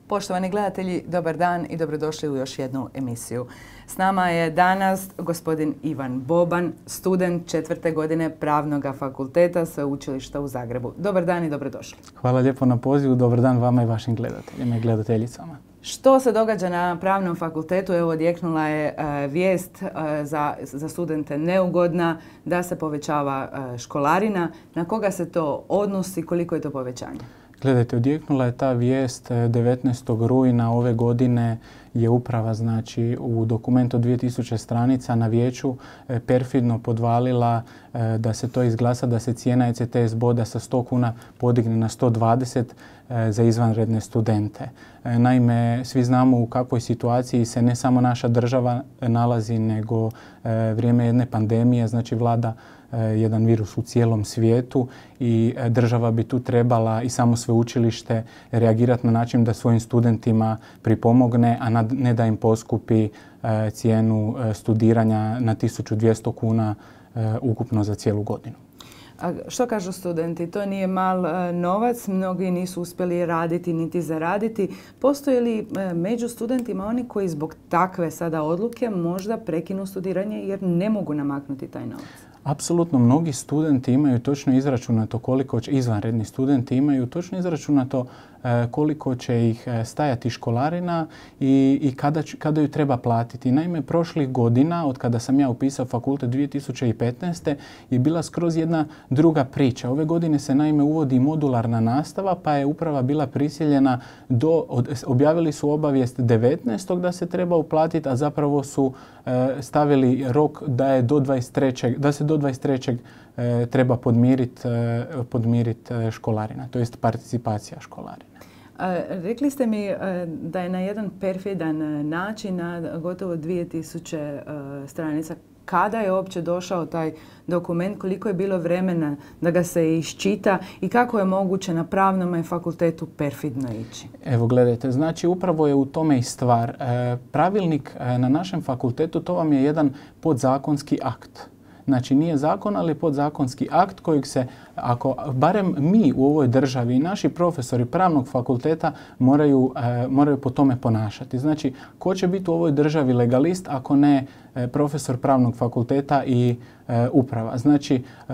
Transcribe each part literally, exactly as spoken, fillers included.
Poštovani gledatelji, dobar dan i dobrodošli u još jednu emisiju. S nama je danas gospodin Ivan Boban, student četvrte godine Pravnog fakulteta Sveučilišta u Zagrebu. Dobar dan i dobrodošli. Hvala lijepo na pozivu. Dobar dan vama i vašim gledateljima i gledateljicama. Što se događa na Pravnom fakultetu? Evo, odjeknula je uh, vijest uh, za, za studente neugodna da se povećava uh, školarina. Na koga se to odnosi? Koliko je to povećanje? Gledajte, odjeknula je ta vijest devetnaestog rujna ove godine je uprava, znači, u dokumentu od dvije tisuće stranica na vijeću perfidno podvalila da se to izglasa, da se cijena E C T S boda sa sto kuna podigne na sto dvadeset za izvanredne studente. Naime, svi znamo u kakvoj situaciji se ne samo naša država nalazi, nego vrijeme jedne pandemije, znači vlada jedan virus u cijelom svijetu i država bi tu trebala i samo sveučilište reagirati na način da svojim studentima pripomogne, a ne da im poskupi cijenu studiranja na tisuću dvjesto kuna ukupno za cijelu godinu. A što kažu studenti? To nije mal novac, mnogi nisu uspjeli raditi niti zaraditi. Postoje li među studentima oni koji zbog takve sada odluke možda prekinu studiranje jer ne mogu namaknuti taj novac? Apsolutno, mnogi studenti imaju točno izračunato koliko će, izvanredni studenti imaju točno izračunato koliko će ih stajati školarina i, i kada, kada ju treba platiti. Naime, prošlih godina, od kada sam ja upisao fakultet dvije tisuće petnaeste. je bila skroz jedna druga priča. Ove godine se naime uvodi modularna nastava, pa je uprava bila prisiljena, do, od, objavili su obavijest devetnaestog da se treba uplatiti, a zapravo su e, stavili rok da, je do dvadeset trećeg da se do dvadeset trećeg E, treba podmiriti e, podmirit školarina, to jest participacija školarina. A, rekli ste mi a, da je na jedan perfidan način, na gotovo dvije tisuće stranica. Kada je uopće došao taj dokument, koliko je bilo vremena da ga se iščita i kako je moguće na Pravnom fakultetu perfidno ići? Evo gledajte, znači upravo je u tome i stvar. E, pravilnik e, na našem fakultetu, to vam je jedan podzakonski akt. Znači nije zakon, ali podzakonski akt kojeg se, ako barem mi u ovoj državi i naši profesori Pravnog fakulteta moraju, e, moraju po tome ponašati. Znači, ko će biti u ovoj državi legalist ako ne e, profesor Pravnog fakulteta i e, uprava? Znači, e,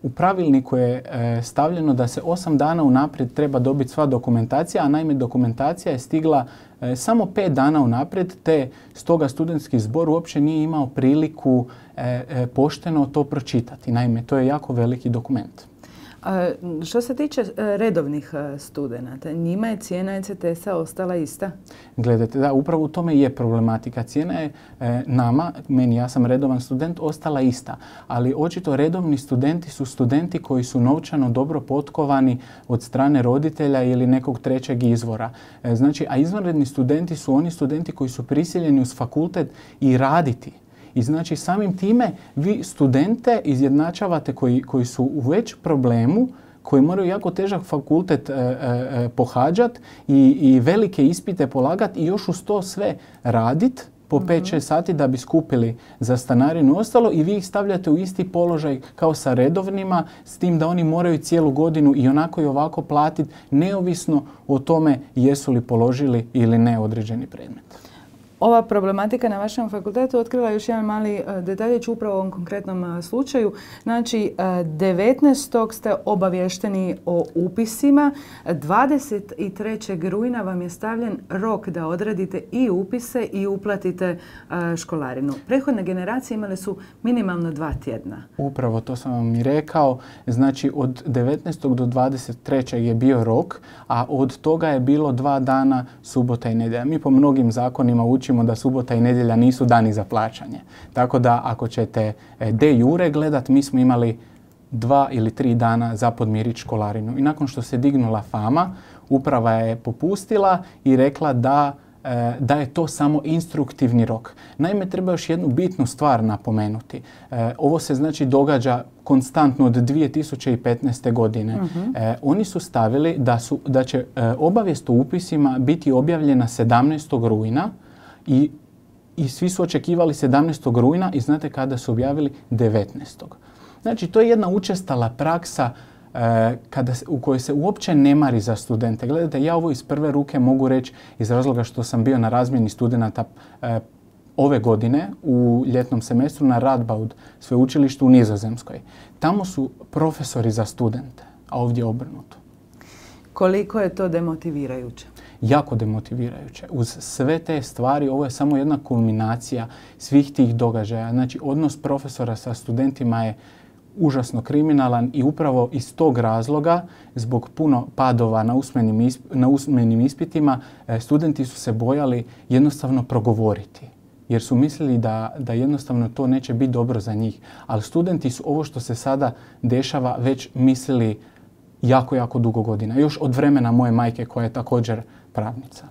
u pravilniku je e, stavljeno da se osam dana unaprijed treba dobiti sva dokumentacija, a naime dokumentacija je stigla e, samo pet dana unaprijed, te stoga studentski zbor uopće nije imao priliku e, e, pošteno to pročitati. Naime, to je jako veliki dokument. A što se tiče redovnih studenata, njima je cijena E C T S-a ostala ista? Gledajte, da, upravo u tome je problematika. Cijena je e, nama, meni, ja sam redovan student, ostala ista. Ali očito redovni studenti su studenti koji su novčano dobro potkovani od strane roditelja ili nekog trećeg izvora. E, znači, a izvanredni studenti su oni studenti koji su prisiljeni uz fakultet i raditi. I znači samim time vi studente izjednačavate koji, koji su u već problemu, koji moraju jako težak fakultet e, e, pohađati i, i velike ispite polagati i još uz to sve raditi po pet šest sati da bi skupili za stanarinu i ostalo i vi ih stavljate u isti položaj kao sa redovnima, s tim da oni moraju cijelu godinu i onako i ovako platiti neovisno o tome jesu li položili ili ne određeni predmet. Ova problematika na vašem fakultetu otkrila još jedan mali detaljić upravo u ovom konkretnom slučaju. Znači, devetnaestog ste obavješteni o upisima, dvadeset trećeg rujna vam je stavljen rok da odradite i upise i uplatite školarinu. Prethodne generacije imale su minimalno dva tjedna. Upravo to sam vam i rekao. Znači, od devetnaestog do dvadeset trećeg je bio rok, a od toga je bilo dva dana subota i nedjelja. Mi po mnogim zakonima učimo da subota i nedjelja nisu dani za plaćanje. Tako da ako ćete de jure gledat, mi smo imali dva ili tri dana za podmiriti školarinu. I nakon što se dignula fama, uprava je popustila i rekla da, da je to samo instruktivni rok. Naime, treba još jednu bitnu stvar napomenuti. Ovo se znači događa konstantno od dvije tisuće petnaeste. godine. Uh-huh. E, oni su stavili da, su, da će e, obavijest o upisima biti objavljena sedamnaestog rujna i, i svi su očekivali sedamnaestog rujna i znate kada su objavili? devetnaestog. Znači, to je jedna učestala praksa kada, u kojoj se uopće ne mari za studente. Gledajte, ja ovo iz prve ruke mogu reći iz razloga što sam bio na razmjeni studenata ove godine u ljetnom semestru na Radboud sveučilištu u Nizozemskoj. Tamo su profesori za studente, a ovdje obrnuto. Koliko je to demotivirajuće? Jako demotivirajuće. Uz sve te stvari ovo je samo jedna kulminacija svih tih događaja. Znači, odnos profesora sa studentima je užasno kriminalan i upravo iz tog razloga, zbog puno padova na usmenim, isp- na usmenim ispitima, studenti su se bojali jednostavno progovoriti. Jer su mislili da, da jednostavno to neće biti dobro za njih. Ali studenti su ovo što se sada dešava već mislili jako, jako dugo godina. Još od vremena moje majke koja je također pravnica.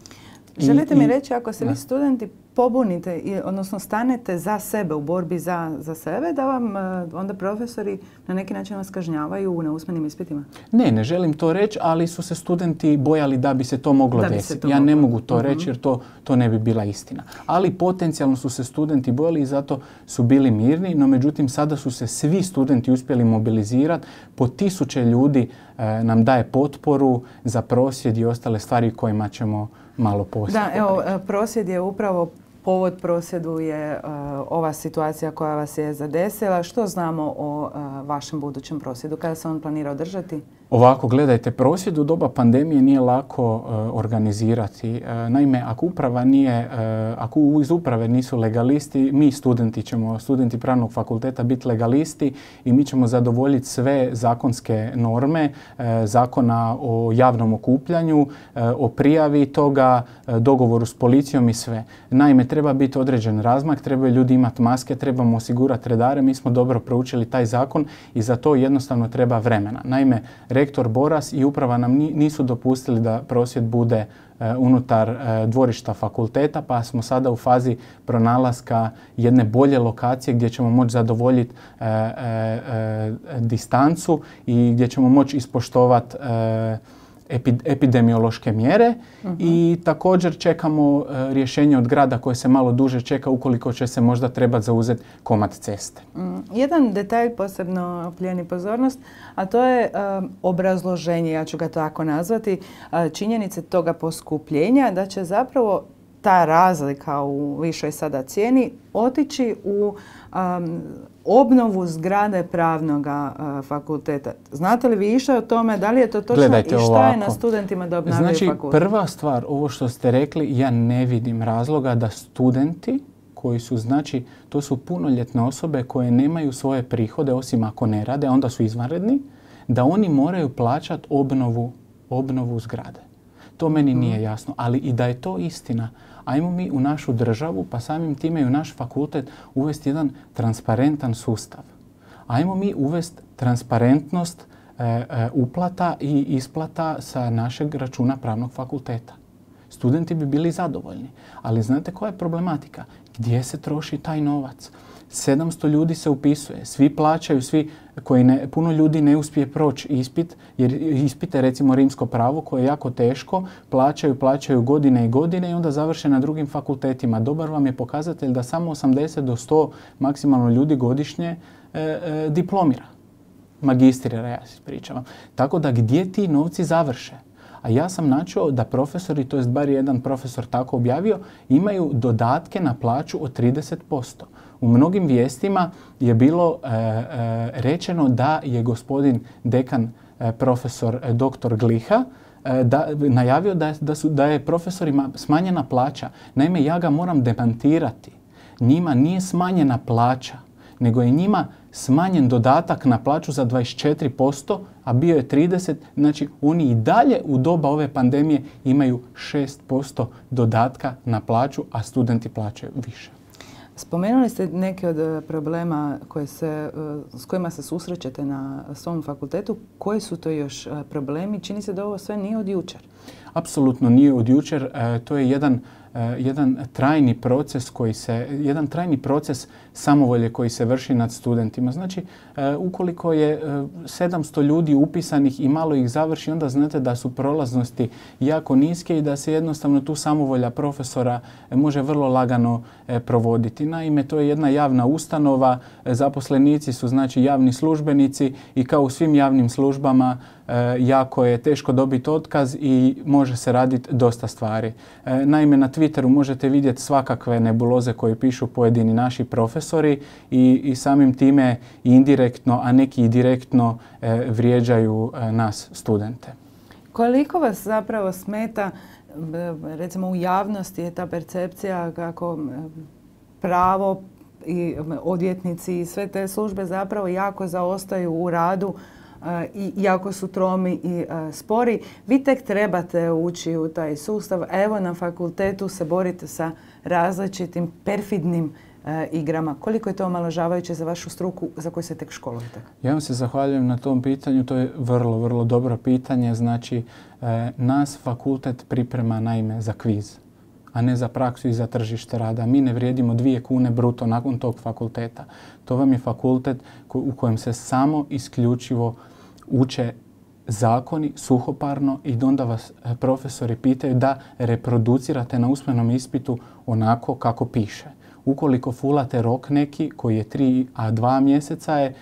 Želite I, mi i, reći, ako se vi studenti pobunite, odnosno stanete za sebe u borbi za, za sebe, da vam onda profesori na neki način vas kažnjavaju na usmenim ispitima? Ne, ne želim to reći, ali su se studenti bojali da bi se to moglo desiti. Ja moglo. ne mogu to uh-huh. reći jer to, to ne bi bila istina. Ali potencijalno su se studenti bojali i zato su bili mirni, no međutim sada su se svi studenti uspjeli mobilizirati. Po tisuće ljudi e, nam daje potporu za prosvjed i ostale stvari kojima ćemo malo poslije. Da, evo, prosvjed je upravo povod prosvjedu je uh, ova situacija koja vas je zadesila. Što znamo o uh, vašem budućem prosvjedu? Kada se on planira održati? Ovako, gledajte, prosvjed u doba pandemije nije lako uh, organizirati. Uh, naime, ako uprava nije, uh, ako iz uprave nisu legalisti, mi studenti ćemo, studenti pravnog fakulteta biti legalisti i mi ćemo zadovoljiti sve zakonske norme, uh, zakona o javnom okupljanju, uh, o prijavi toga, uh, dogovoru s policijom i sve. Naime, treba biti određen razmak, trebaju ljudi imati maske, trebamo osigurati redare. Mi smo dobro proučili taj zakon i za to jednostavno treba vremena. Naime, rektor Boras i uprava nam nisu dopustili da prosvjed bude uh, unutar uh, dvorišta fakulteta, pa smo sada u fazi pronalaska jedne bolje lokacije gdje ćemo moći zadovoljiti uh, uh, uh, distancu i gdje ćemo moći ispoštovati uh, epidemiološke mjere uh-huh. i također čekamo uh, rješenje od grada koje se malo duže čeka ukoliko će se možda trebati zauzeti komad ceste. Mm, jedan detalj posebno plijeni pozornost, a to je um, obrazloženje, ja ću ga tako nazvati, uh, činjenice toga poskupljenja, da će zapravo ta razlika u višoj sada cijeni otići u um, obnovu zgrade pravnog uh, fakulteta. Znate li vi išta o tome? Da li je to točno? Gledajte, i šta ovako. je na studentima da obnavljaju znači, fakultet? Prva stvar, ovo što ste rekli, ja ne vidim razloga da studenti koji su, znači, to su punoljetne osobe koje nemaju svoje prihode, osim ako ne rade, onda su izvanredni, da oni moraju plaćati obnovu, obnovu zgrade. To meni nije jasno, ali i da je to istina, ajmo mi u našu državu, pa samim time i u naš fakultet uvesti jedan transparentan sustav. Ajmo mi uvesti transparentnost e, e, uplata i isplata sa našeg računa pravnog fakulteta. Studenti bi bili zadovoljni, ali znate koja je problematika? Gdje se troši taj novac? sedamsto ljudi se upisuje, svi plaćaju, svi koji ne, puno ljudi ne uspije proći ispit, jer ispite recimo rimsko pravo koje je jako teško, plaćaju, plaćaju godine i godine i onda završe na drugim fakultetima. Dobar vam je pokazatelj da samo osamdeset do sto maksimalno ljudi godišnje e, e, diplomira. Magistrira, ja se ispričavam. Tako da gdje ti novci završe? A ja sam načuo da profesori, to jest bar jedan profesor tako objavio, imaju dodatke na plaću od trideset posto. U mnogim vijestima je bilo e, e, rečeno da je gospodin dekan e, profesor e, doktor Gliha e, da, najavio da, da, su, da je profesorima smanjena plaća. Naime, ja ga moram demantirati. Njima nije smanjena plaća, nego je njima smanjen dodatak na plaću za dvadeset četiri posto, a bio je trideset posto. Znači, oni i dalje u doba ove pandemije imaju šest posto dodatka na plaću, a studenti plaćaju više. Spomenuli ste neke od problema koje se, s kojima se susrećete na svom fakultetu. Koji su to još problemi? Čini se da ovo sve nije od jučer. Apsolutno nije od jučer. E, to je jedan jedan trajni proces koji se, jedan trajni proces samovolje koji se vrši nad studentima. Znači, ukoliko je sedamsto ljudi upisanih i malo ih završi, onda znate da su prolaznosti jako niske i da se jednostavno tu samovolja profesora može vrlo lagano provoditi. Naime, to je jedna javna ustanova, zaposlenici su znači javni službenici i kao u svim javnim službama jako je teško dobiti otkaz i može se raditi dosta stvari. Naime, na Twitteru možete vidjeti svakakve nebuloze koje pišu pojedini naši profesori i, i samim time indirektno, a neki i direktno vrijeđaju nas studente. Koliko vas zapravo smeta, recimo u javnosti je ta percepcija kako pravo i odvjetnici i sve te službe zapravo jako zaostaju u radu i jako su tromi i spori. Vi tek trebate ući u taj sustav. Evo na fakultetu se borite sa različitim perfidnim igrama. Koliko je to omalovažavajuće za vašu struku za koju se tek školujete? Ja vam se zahvaljujem na tom pitanju. To je vrlo, vrlo dobro pitanje. Znači, nas fakultet priprema naime za kviz, a ne za praksu i za tržište rada. Mi ne vrijedimo dvije kune bruto nakon tog fakulteta. To vam je fakultet u kojem se samo isključivo uče zakoni suhoparno i onda vas profesori pitaju da reproducirate na usmenom ispitu onako kako piše. Ukoliko fulate rok neki koji je tri a dva mjeseca je,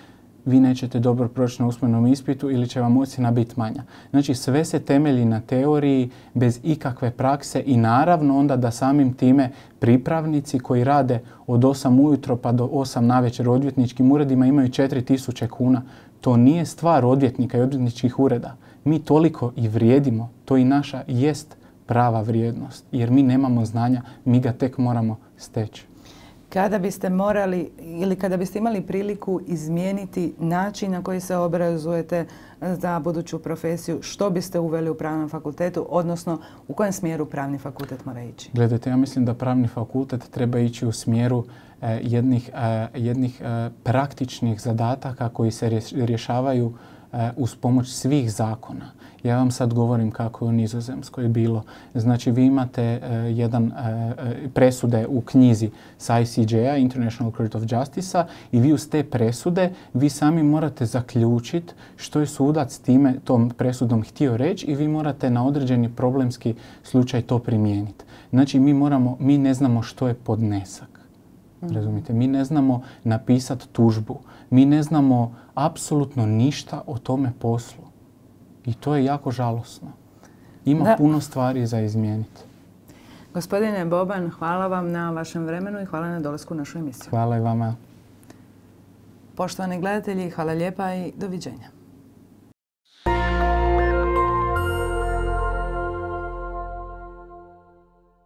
vi nećete dobro proći na usmenom ispitu ili će vam ocjena biti manja. Znači sve se temelji na teoriji bez ikakve prakse i naravno onda da samim time pripravnici koji rade od osam ujutro pa do osam navečer u odvjetničkim uredima imaju četiri tisuće kuna. To nije stvar odvjetnika i odvjetničkih ureda. Mi toliko i vrijedimo, to i naša jest prava vrijednost jer mi nemamo znanja, mi ga tek moramo steći. Kada biste morali ili kada biste imali priliku izmijeniti način na koji se obrazujete za buduću profesiju, što biste uveli u pravnom fakultetu, odnosno u kojem smjeru pravni fakultet mora ići? Gledajte, ja mislim da pravni fakultet treba ići u smjeru eh, jednih, eh, jednih eh, praktičnih zadataka koji se rješavaju eh, uz pomoć svih zakona. Ja vam sad govorim kako je u Nizozemskoj bilo. Znači vi imate uh, jedan uh, presude u knjizi s I C J-a, International Court of Justice-a, i vi uz te presude vi sami morate zaključiti što je sudac time tom presudom htio reći i vi morate na određeni problemski slučaj to primijeniti. Znači mi moramo, mi ne znamo što je podnesak. Mm. Razumite? Mi ne znamo napisati tužbu. Mi ne znamo apsolutno ništa o tome poslu. I to je jako žalosno. Ima da. puno stvari za izmijeniti. Gospodine Boban, hvala vam na vašem vremenu i hvala na dolasku u našu emisiju. Hvala i vama. Poštovani gledatelji, hvala lijepa i doviđenja.